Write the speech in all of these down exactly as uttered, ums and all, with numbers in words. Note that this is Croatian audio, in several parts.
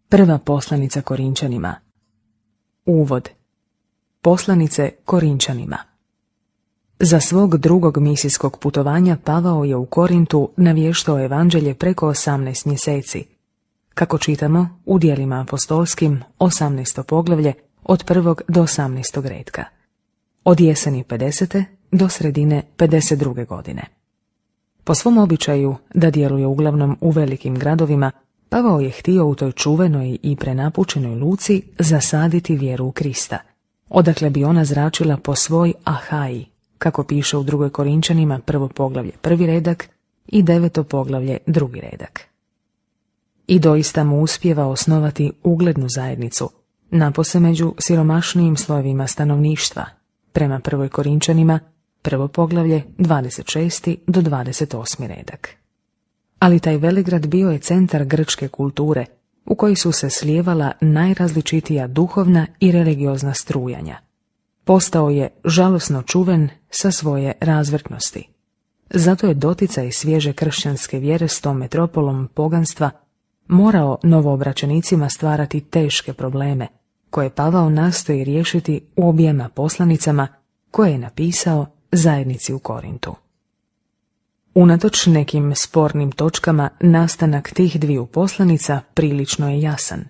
Prva poslanica Korinčanima. Uvod. Poslanice Korinčanima. Za svog drugog misijskog putovanja Pavao je u Korintu navještao evanđelje preko osamnaest mjeseci. Kako čitamo u Djelima apostolskim, osamnaesto poglavlje, od prvog do osamnaestog redka. Od jeseni pedesete do sredine pedeset druge godine. Po svom običaju da djeluje uglavnom u velikim gradovima, Pavao je htio u toj čuvenoj i prenapučenoj luci zasaditi vjeru u Krista, odakle bi ona zračila po svoj Ahaji, kako piše u drugoj Korinčanima prvo poglavlje prvi redak i deveto poglavlje drugi redak. I doista mu uspijeva osnovati uglednu zajednicu, napose među siromašnijim slojevima stanovništva, prema prvoj Korinčanima prvo poglavlje dvadeset šesti do dvadeset osmi redak. Ali taj velegrad bio je centar grčke kulture, u koji su se slijevala najrazličitija duhovna i religiozna strujanja. Postao je žalosno čuven sa svoje razvrtnosti. Zato je doticaj svježe kršćanske vjere s tom metropolom poganstva morao novoobraćenicima stvarati teške probleme, koje Pavao nastoji riješiti u objema poslanicama koje je napisao zajednici u Korintu. Unatoč nekim spornim točkama, nastanak tih dviju poslanica prilično je jasan.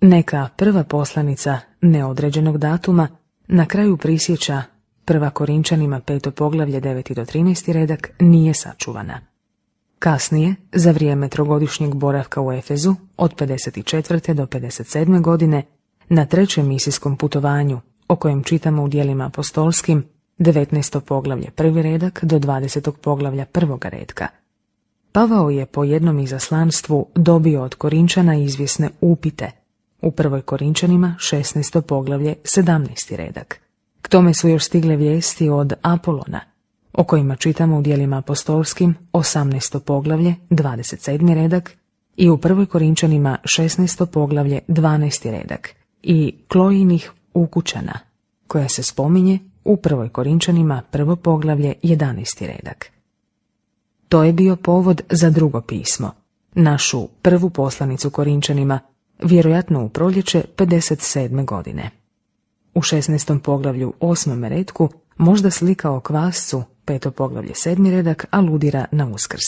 Neka prva poslanica neodređenog datuma na kraju prisjeća prva Korinčanima peto poglavlje deveti do trinaesti redak nije sačuvana. Kasnije, za vrijeme trogodišnjeg boravka u Efezu, od pedeset četvrte do pedeset sedme godine, na trećem misijskom putovanju, o kojem čitamo u Djelima apostolskim, devetnaesto poglavlje prvi redak do dvadesetog poglavlja prvoga redka. Pavao je po jednom izaslanstvu dobio od Korinčana izvjesne upite, u prvoj Korinčanima šesnaesto poglavlje sedamnaesti redak. K tome su još stigle vijesti od Apolona, o kojima čitamo u Djelima apostolskim osamnaesto poglavlje dvadeset sedmi redak i u prvoj Korinčanima šesnaesto poglavlje dvanaesti redak, i Klojinih ukućana, koja se spominje u prvoj Korinčanima prvo poglavlje jedanaesti redak. To je bio povod za drugo pismo, našu prvu poslanicu Korinčanima, vjerojatno u proljeće pedeset sedme godine. U šesnaestom poglavlju osmom redku možda slika o kvascu, peto poglavlje sedmi redak, aludira na Uskrs.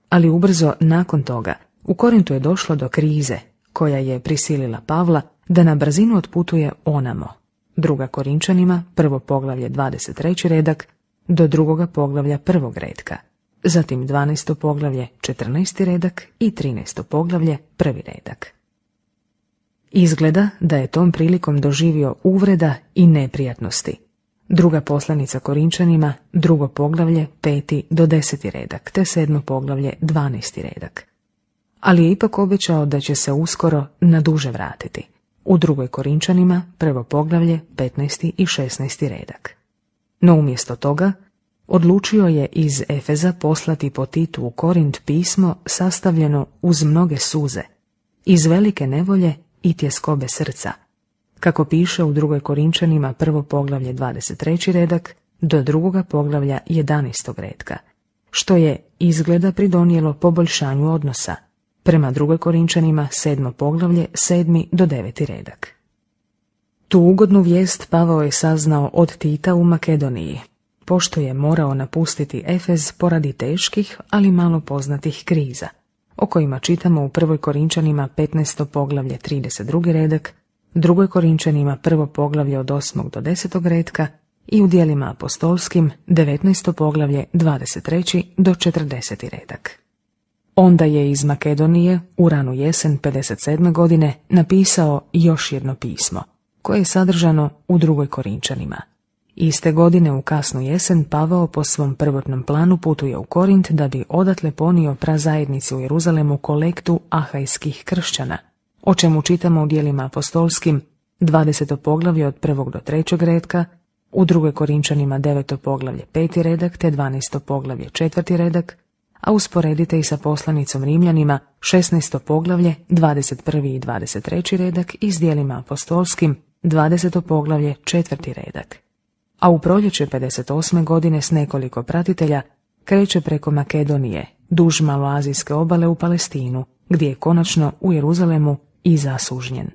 Ali ubrzo nakon toga u Korintu je došlo do krize koja je prisilila Pavla da na brzinu otputuje onamo, druga Korinčanima prvo poglavlje dvadeset treći redak do drugoga poglavlja prvog redka, zatim dvanaesto poglavlje četrnaesti redak i trinaesto poglavlje prvi redak. Izgleda da je tom prilikom doživio uvreda i neprijatnosti. Druga poslanica Korinčanima, drugo poglavlje peti do deseti redak, te sedmo poglavlje dvanaesti redak. Ali je ipak obećao da će se uskoro na duže vratiti, u drugoj Korinčanima prvo poglavlje petnaesti i šesnaesti redak. No umjesto toga odlučio je iz Efeza poslati po Titu u Korint pismo sastavljeno uz mnoge suze, iz velike nevolje i tjeskobe srca, kako piše u drugoj Korinčanima prvo poglavlje dvadeset treći redak do drugoga poglavlja jedanaestog redka, što je izgleda pridonijelo poboljšanju odnosa, prema drugoj Korinčanima sedmo poglavlje sedmi do deveti redak. Tu ugodnu vijest Pavao je saznao od Tita u Makedoniji, pošto je morao napustiti Efez poradi teških, ali malo poznatih kriza, o kojima čitamo u prvoj Korinčanima petnaesto poglavlje trideset drugi redak, drugoj Korinčanima prvo poglavlje od osmog do desetog redka i u Djelima apostolskim devetnaesto poglavlje dvadeset treći do četrdeseti redak. Onda je iz Makedonije u ranu jesen pedeset sedme godine napisao još jedno pismo, koje je sadržano u drugoj Korinčanima. Iste godine u kasnu jesen Pavao po svom prvotnom planu putuje u Korint da bi odatle ponio prazajednici u Jeruzalemu kolektu ahajskih kršćana, o čemu čitamo u Djelima apostolskim dvadeseto poglavlje od prvog do trećeg redka, u drugoj Korinčanima deveto poglavlje peti redak te dvanaesto poglavlje četvrti redak, a usporedite i sa poslanicom Rimljanima šesnaesto poglavlje dvadeset prvi i dvadeset treći redak i s Djelima apostolskim dvadeseto poglavlje četvrti redak. A u proljeće pedeset osme godine s nekoliko pratitelja kreće preko Makedonije, duž maloazijske obale u Palestinu, gdje je konačno u Jeruzalemu i zasužnjen.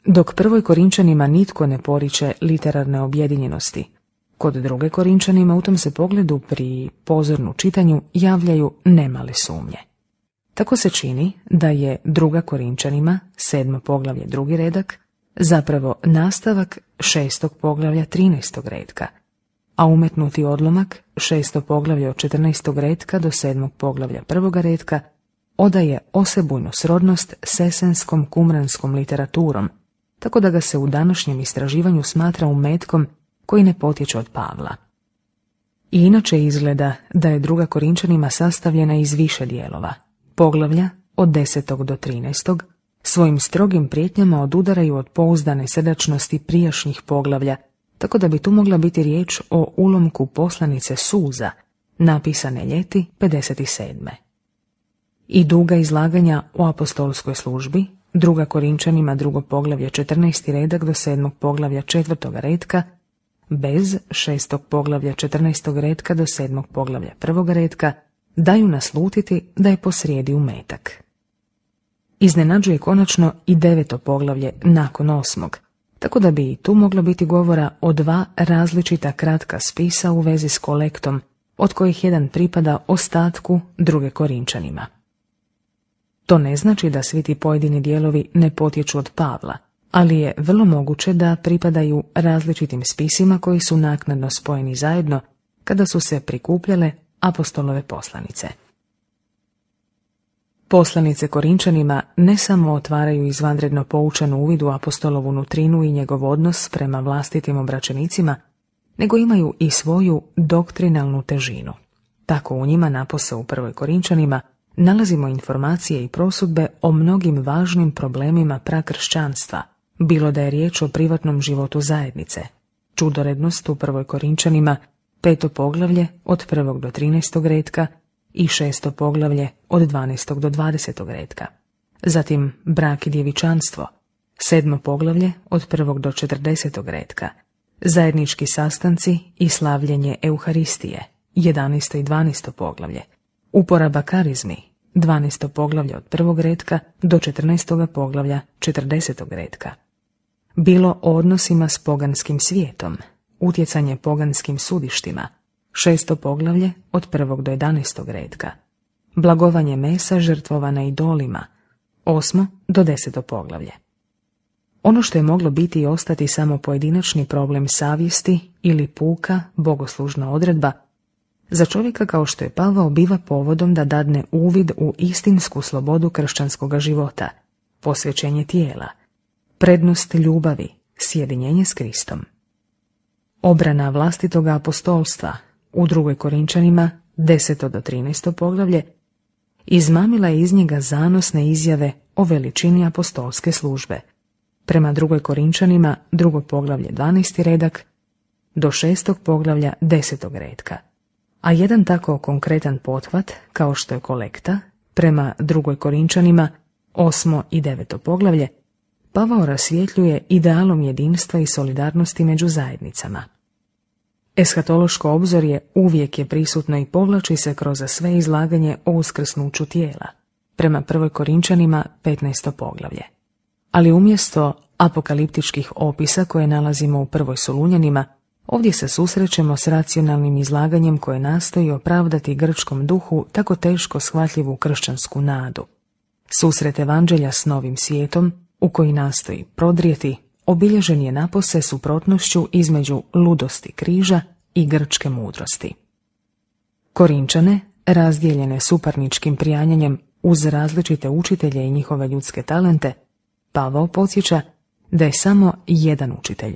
Dok prvoj Korinčanima nitko ne poriče literarne objedinjenosti, kod druge Korinčanima u tom se pogledu pri pozornu čitanju javljaju nemale sumnje. Tako se čini da je druga Korinčanima, sedmo poglavlje drugi redak, zapravo nastavak šestog poglavlja trinaestog redka, a umetnuti odlomak šesto poglavlje od četrnaestog redka do sedmog poglavlja prvoga redka odaje osebujnu srodnost s esenskom kumranskom literaturom, tako da ga se u današnjem istraživanju smatra umetkom koji ne potječe od Pavla. I inače izgleda da je druga Korinčanima sastavljena iz više dijelova. Poglavlja od desetog do trinaestog svojim strogim prijetnjama odudaraju od pouzdane srdačnosti prijašnjih poglavlja, tako da bi tu mogla biti riječ o ulomku poslanice Suza, napisane ljeti pedeset sedme. I duga izlaganja o apostolskoj službi, druga Korinčanima drugo poglavlje četrnaesti redak do sedmog poglavlja četvrtoga redka, bez šestog poglavlja četrnaestog redka do sedmog poglavlja prvoga redka, daju naslutiti da je posrijedi umetak. Iznenađuje konačno i deveto poglavlje nakon osmog, tako da bi i tu moglo biti govora o dva različita kratka spisa u vezi s kolektom, od kojih jedan pripada ostatku druge Korinčanima. To ne znači da svi ti pojedini dijelovi ne potječu od Pavla, ali je vrlo moguće da pripadaju različitim spisima koji su naknadno spojeni zajedno kada su se prikupljale apostolove poslanice. Poslanice Korinčanima ne samo otvaraju izvanredno poučan uvid u apostolovu nutrinu i njegov odnos prema vlastitim obraćenicima, nego imaju i svoju doktrinalnu težinu. Tako u njima, napose u prvoj Korinčanima, nalazimo informacije i prosudbe o mnogim važnim problemima prakršćanstva, bilo da je riječ o privatnom životu zajednice, čudorednost u prvoj Korinčanima, peto poglavlje od prvog do trinaestog redka i šesto poglavlje od dvanaestog do dvadesetog redka. Zatim brak i djevičanstvo, sedmo poglavlje od prvog do četrdesetog redka, zajednički sastanci i slavljenje Euharistije, jedanaesto i dvanaesto poglavlje, uporaba karizmi, dvanaesto poglavlje od prvog redka do četrnaestog poglavlja četrdesetog redka. Bilo o odnosima s poganskim svijetom, utjecanje poganskim sudištima, šesto poglavlje od prvog do jedanaestog redka, blagovanje mesa žrtvovana idolima, osmo do deseto poglavlje. Ono što je moglo biti i ostati samo pojedinačni problem savjesti ili puka bogoslužna odredba, za čovjeka kao što je Pavao biva povodom da dadne uvid u istinsku slobodu kršćanskog života, posvećenje tijela, prednost ljubavi, sjedinjenje s Kristom. Obrana vlastitoga apostolstva u drugoj Korinčanima, deseto do trinaesto poglavlje, izmamila je iz njega zanosne izjave o veličini apostolske službe. Prema drugoj Korinčanima, drugo poglavlje dvanaesti redak, do šestog poglavlja desetog redka. A jedan tako konkretan pothvat, kao što je kolekta, prema drugoj Korinčanima, osmo i deveto poglavlje, Pavao rasvjetljuje idealom jedinstva i solidarnosti među zajednicama. Eshatološko obzorje uvijek je prisutno i povlači se kroz sve izlaganje o uskrsnuću tijela, prema prvoj Korinčanima, petnaesto poglavlje. Ali umjesto apokaliptičkih opisa koje nalazimo u prvoj Solunjanima, ovdje se susrećemo s racionalnim izlaganjem koje nastoji opravdati grčkom duhu tako teško shvatljivu kršćansku nadu. Susret evanđelja s novim svijetom, u koji nastoji prodrijeti, obilježen je napose suprotnošću između ludosti križa i grčke mudrosti. Korinčane, razdijeljene suparničkim prijanjanjem uz različite učitelje i njihove ljudske talente, Pavao podsjeća da je samo jedan učitelj,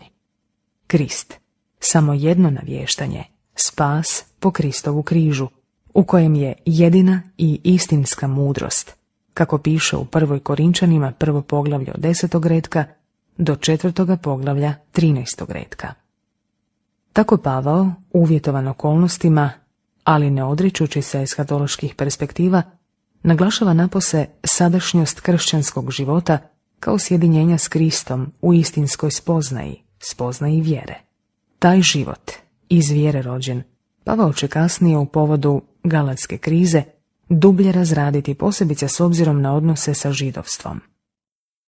Krist, samo jedno navještanje, spas po Kristovu križu, u kojem je jedina i istinska mudrost, kako piše u prvoj Korinčanima prvo poglavlje od desetog redka do četvrtoga poglavlja trinaestog redka. Tako Pavao, uvjetovan okolnostima, ali ne odričući se eshatoloških perspektiva, naglašava napose sadašnjost kršćanskog života kao sjedinjenja s Kristom u istinskoj spoznaji, spoznaji vjere. Taj život, iz vjere rođen, Pavao će kasnije u povodu galatske krize dublje razraditi, posebice s obzirom na odnose sa židovstvom.